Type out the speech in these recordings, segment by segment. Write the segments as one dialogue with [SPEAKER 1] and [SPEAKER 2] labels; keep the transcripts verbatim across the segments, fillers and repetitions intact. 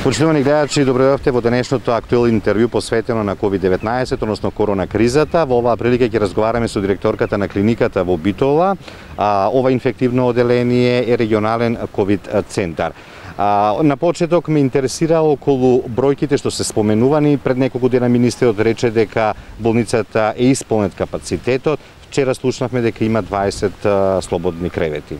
[SPEAKER 1] Почитувани гледачи, добро дојдовте во денешното актуелно интервју посветено на ковид деветнаесет, односно корона кризата. Во оваа прилика ќе разговараме со директорката на клиниката во Битола. А, ова инфективно оделение е регионален ковид центар. А, на почеток ме интересира околу бројките што се споменувани. Пред неколку дена министерот рече дека болницата е исполнет капацитетот. Вчера слушнавме дека има дваесет а, слободни кревети.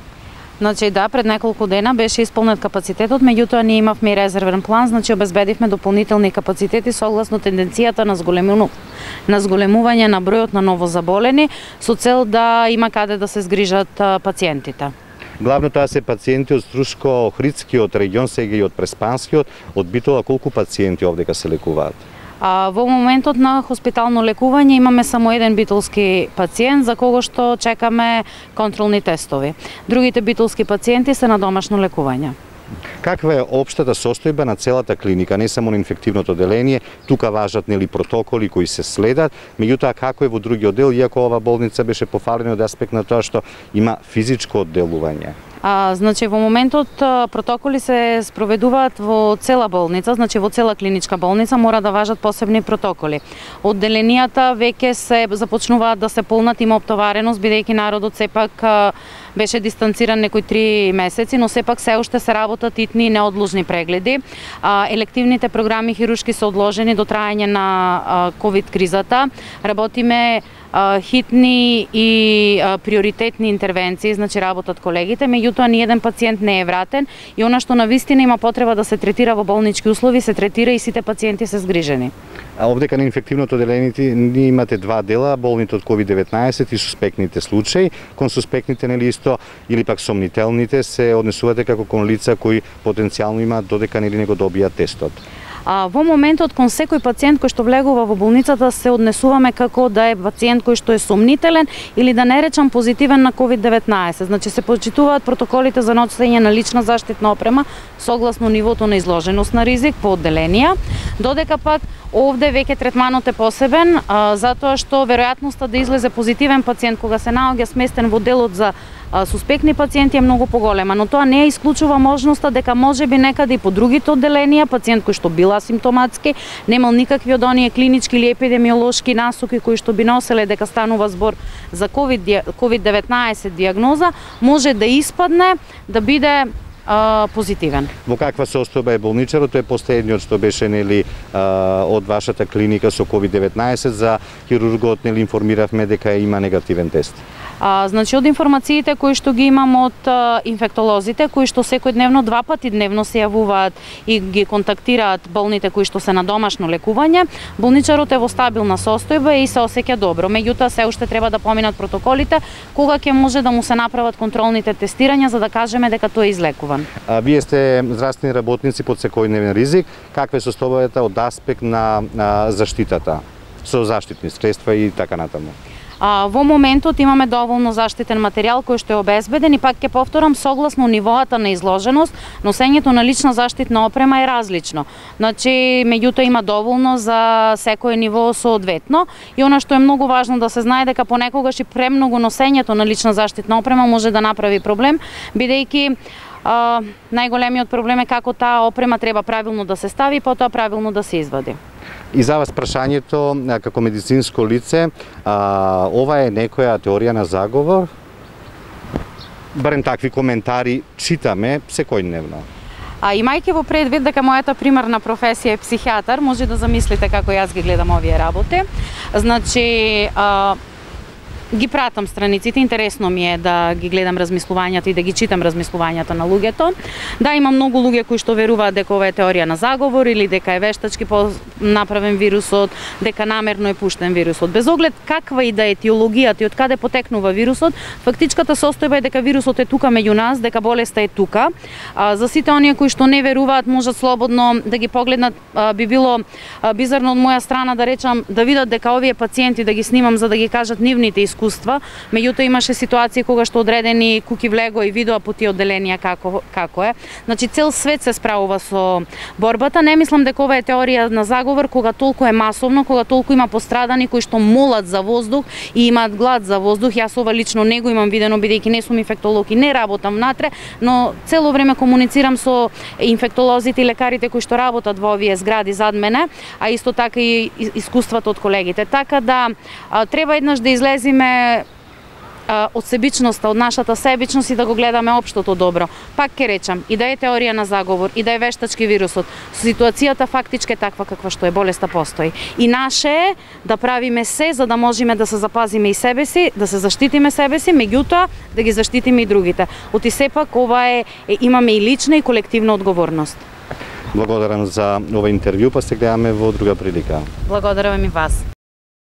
[SPEAKER 2] Значи да, пред неколку дена беше исполнет капацитетот, меѓутоа ние имавме и резервен план, значи обезбедивме дополнителни капацитети согласно тенденцијата на зголемување на зголемување на бројот на новозаболени со цел да има каде да се згрижат пациентите.
[SPEAKER 1] Главно тоа се пациенти од Струшко-Охридскиот регион, сега и од Преспанскиот, од Битола. Колку пациенти овдека се лекуваат?
[SPEAKER 2] А, во моментот на хоспитално лекување имаме само еден битолски пациент за кого што чекаме контролни тестови. Другите битолски пациенти се на домашно лекување.
[SPEAKER 1] Каква е општата состојба на целата клиника, не само на инфективното оделение? Тука важат нели протоколи кои се следат, меѓутоа како е во други одел, иако ова болница беше пофалена од аспект на тоа што има физичко одделување?
[SPEAKER 2] А, значи во моментот протоколи се спроведуваат во цела болница, значи во цела клиничка болница мора да важат посебни протоколи. Одделенијата веќе се започнуваат да се полнат, има оптовареност, бидејќи народот сепак беше дистанциран некои три месеци, но сепак се уште се работат итни неодложни прегледи. А, елективните програми хируршки се одложени до траење на ковид кризата. Работиме хитни и а, приоритетни интервенции, значи работат колегите, меѓутоа ни еден пациент не е вратен и она што навистина има потреба да се третира во болнички услови, се третира и сите пациенти се згрижени.
[SPEAKER 1] А овдека на инфективното оделение ние имате два дела, болните од ковид деветнаесет и суспектните случаи. Кон суспектните нели исто или пак сомнителните се однесувате како кон лица кои потенцијално имаат додека нели не го добијат тестот.
[SPEAKER 2] А, во моментот кон секој пациент кој што влегува во болницата се однесуваме како да е пациент кој што е сомнителен или да не речам позитивен на ковид деветнаесет. Значи се почитуваат протоколите за носење на лична заштитна опрема согласно нивото на изложеност на ризик по одделенија, додека пак овде веќе третманот е посебен, а, затоа што веројатноста да излезе позитивен пациент кога се наоѓа сместен во делот за а, суспектни пациенти е многу поголема, но тоа не исклучува можноста дека можеби некаде и по другите одделенија пациент кој што бил асимптоматски, немал никакви од оние клинички или епидемиолошки насоки кои што би носеле дека станува збор за ковид деветнаесет диагноза, може да испадне да биде Uh, позитивен.
[SPEAKER 1] Во каква состојба е болничарот? Тој е последниот што беше нели uh, од вашата клиника со ковид деветнаесет. За хирургот нели информиравме дека има негативен тест.
[SPEAKER 2] А, значи од информациите кои што ги имам од а, инфектолозите, кои што секојдневно два пати дневно се јавуваат и ги контактираат болните кои што се на домашно лекување, болничарот е во стабилна состојба и се осеќа добро. Меѓутоа се уште треба да поминат протоколите кога ќе може да му се направат контролните тестирања за да кажеме дека тој е излекуван.
[SPEAKER 1] А, вие сте здравствени работници под секојдневен ризик. Каква е состојбата од аспект на, на заштитата со заштитни средства и така натаму?
[SPEAKER 2] А, во моментот имаме доволно заштитен материјал кој што е обезбеден и пак ќе повторам согласно нивоата на изложеност, носењето на лична заштитна опрема е различно. Значи, меѓутоа има доволно за секое ниво соодветно и она што е многу важно да се знае дека понекогаш и премногу носењето на лична заштитна опрема може да направи проблем, бидејќи а, најголемиот проблем е како таа опрема треба правилно да се стави и потоа правилно да се извади.
[SPEAKER 1] И за вас прашањето како медицинско лице, а, ова е некоја теорија на заговор? Барем такви коментари читаме секојдневно.
[SPEAKER 2] А имајќи во предвид дека мојата примарна професија е психијатар, може да замислите како јас ги гледам овие работи. Значи, а, ги пратам страниците, интересно ми е да ги гледам размислувањата и да ги читам размислувањата на луѓето. Да, има многу луѓе кои што веруваат дека ова е теорија на заговор или дека е вештачки направен вирусот, дека намерно е пуштен вирусот. Без оглед каква и да е етиологијата и од каде потекнува вирусот, фактичката состојба е дека вирусот е тука меѓу нас, дека болеста е тука. А, за сите оние кои што не веруваат, можат слободно да ги погледнат. А, би било а, бизарно од моја страна да речам да видат дека овие пациенти да ги снимам за да ги кажат нивните искуства, меѓутоа имаше ситуации кога што одредени куки влего и видоа по тие одделенија како како е. Значи цел свет се справува со борбата. Не мислам дека ова е теорија на заговор заговор кога толку е масовно, кога толку има пострадани кои што молат за воздух и имаат глад за воздух. Јас ова лично не го имам видено бидејќи не сум инфектолог и не работам внатре, но цело време комуницирам со инфектолозите и лекарите кои што работат во овие згради зад мене, а исто така и искуството од колегите. Така да треба еднаш да излезиме од себичноста, од нашата себичност и да го гледаме општото добро. Пак ќе речам, и да е теорија на заговор, и да е вештачки вирусот, ситуацијата фактички е таква каква што е, болеста постои. И наше е да правиме се за да можеме да се запазиме и себе си, да се заштитиме себе си, меѓутоа да ги заштитиме и другите. Оти сепак ова е, е имаме и лична и колективна одговорност.
[SPEAKER 1] Благодарам за ова интервју, па се гледаме во друга прилика.
[SPEAKER 2] Благодарам и вас.